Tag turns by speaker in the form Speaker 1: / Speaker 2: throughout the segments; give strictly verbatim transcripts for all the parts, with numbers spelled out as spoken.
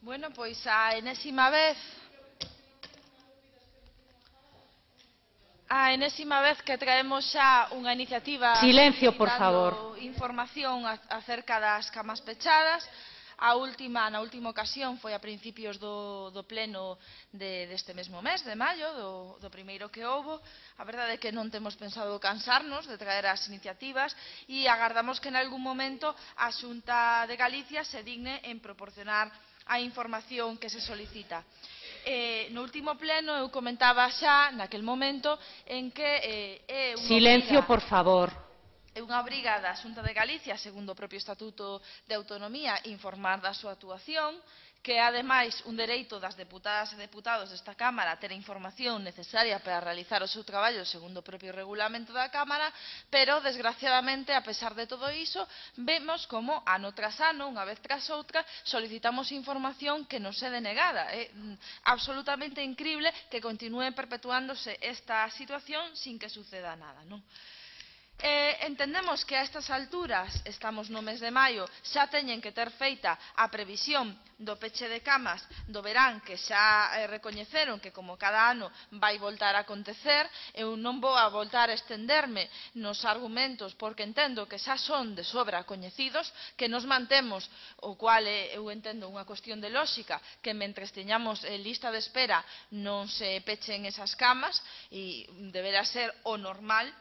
Speaker 1: Bueno, pois a enésima vez a enésima vez que traemos xa unha iniciativa
Speaker 2: Silencio, por favor.
Speaker 1: solicitando información acerca das camas pechadas. A última, na última ocasión foi a principios do, do pleno de, deste mesmo mes, de maio, do, do primeiro que houbo. A verdade é que non temos pensado cansarnos de traer as iniciativas e agardamos que en algún momento a Xunta de Galicia se digne en proporcionar a información que se solicita. Eh, no último pleno eu comentaba xa naquel momento en que eh, é unha
Speaker 2: Silencio,
Speaker 1: obriga,
Speaker 2: por favor.
Speaker 1: é unha obriga da Xunta de Galicia, segundo o propio Estatuto de Autonomía, informar da súa actuación, que é ademais un dereito das deputadas e deputados desta Cámara ter a información necesaria para realizar o seu traballo segundo o propio regulamento da Cámara, pero, desgraciadamente, a pesar de todo iso, vemos como ano tras ano, unha vez tras outra, solicitamos información que nos é denegada. É absolutamente incrible que continúe perpetuándose esta situación sin que suceda nada, non? Eh, entendemos que a estas alturas, estamos no mes de maio, xa teñen que ter feita a previsión do peche de camas do verán, que xa eh, recoñeceron que como cada ano vai voltar a acontecer. Eu non vou a voltar a estenderme nos argumentos porque entendo que xa son de sobra coñecidos, que nos mantemos, o cual eh, eu entendo unha cuestión de lógica, que mentres teñamos eh, lista de espera non se pechen esas camas e deberá ser o normal,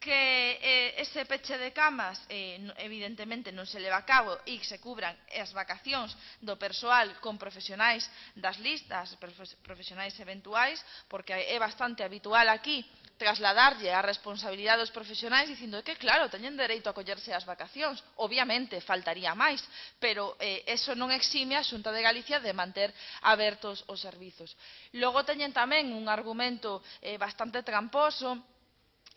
Speaker 1: que eh, ese peche de camas eh, evidentemente non se leva a cabo e se cubran as vacacións do persoal con profesionais das listas, profesionais eventuais, porque é bastante habitual aquí trasladarlle a responsabilidade dos profesionais dicindo que, claro, teñen dereito a collerse as vacacións. Obviamente, faltaría máis, pero eh, eso non exime a Xunta de Galicia de manter abertos os servizos. Logo teñen tamén un argumento eh, bastante tramposo,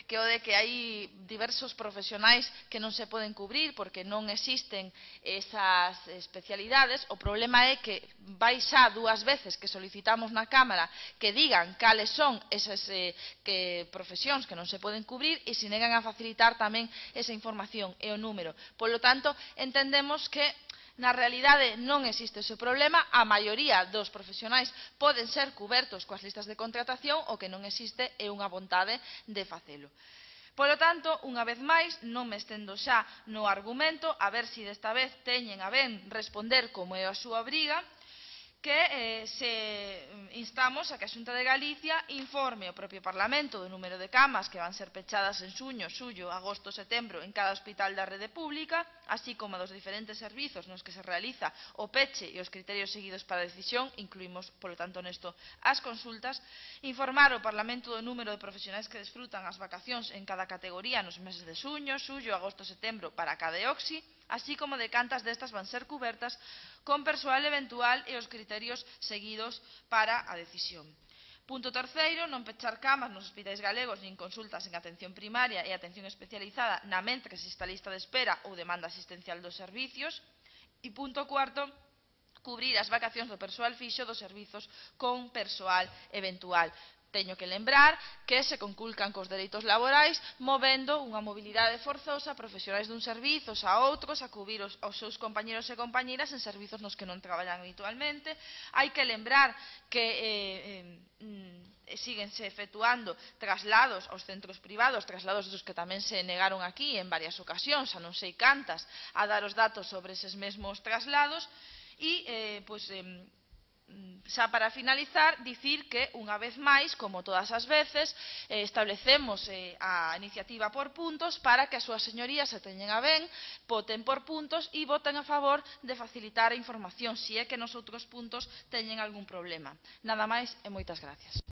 Speaker 1: que o de que hai diversos profesionais que non se poden cubrir porque non existen esas especialidades. O problema é que vai xa dúas veces que solicitamos na Cámara que digan cales son esas eh, que profesións que non se poden cubrir e se negan a facilitar tamén esa información e o número. Polo tanto, entendemos que na realidade non existe ese problema, a maioría dos profesionais poden ser cubertos coas listas de contratación, o que non existe é unha vontade de facelo. Polo tanto, unha vez máis, non me estendo xa no argumento, a ver se desta vez teñen a ben responder como é a súa obriga, que eh, se instamos a que a Xunta de Galicia informe ao propio Parlamento do número de camas que van ser pechadas en xuño, xullo, agosto, setembro en cada hospital da rede pública, así como dos diferentes servizos nos que se realiza o peche e os criterios seguidos para a decisión, incluímos, polo tanto, nesto as consultas, informar ao Parlamento do número de profesionais que desfrutan as vacacións en cada categoría nos meses de xuño, xullo, agosto, setembro para cada E O X I, así como de cantas destas van ser cubertas con persoal eventual e os criterios seguidos para a decisión. Punto terceiro, non pechar camas nos hospitais galegos nin consultas en atención primaria e atención especializada na mentre exista lista de espera ou demanda asistencial dos servicios. E punto cuarto, cubrir as vacacións do persoal fixo dos servizos con persoal eventual. Teño que lembrar que se conculcan cos dereitos laborais movendo unha mobilidade forzosa a profesionais dun servizos a outros a cubrir os, os seus compañeros e compañeras en servizos nos que non traballan habitualmente. Hai que lembrar que eh, eh, síguense efectuando traslados aos centros privados, traslados dos que tamén se negaron aquí en varias ocasións, a non sei cantas, a dar os datos sobre eses mesmos traslados. E, eh, pois, eh, xa para finalizar, dicir que, unha vez máis, como todas as veces, eh, establecemos eh, a iniciativa por puntos para que as súas señorías se teñen a ben, voten por puntos e voten a favor de facilitar a información, se é que nos outros puntos teñen algún problema. Nada máis e moitas gracias.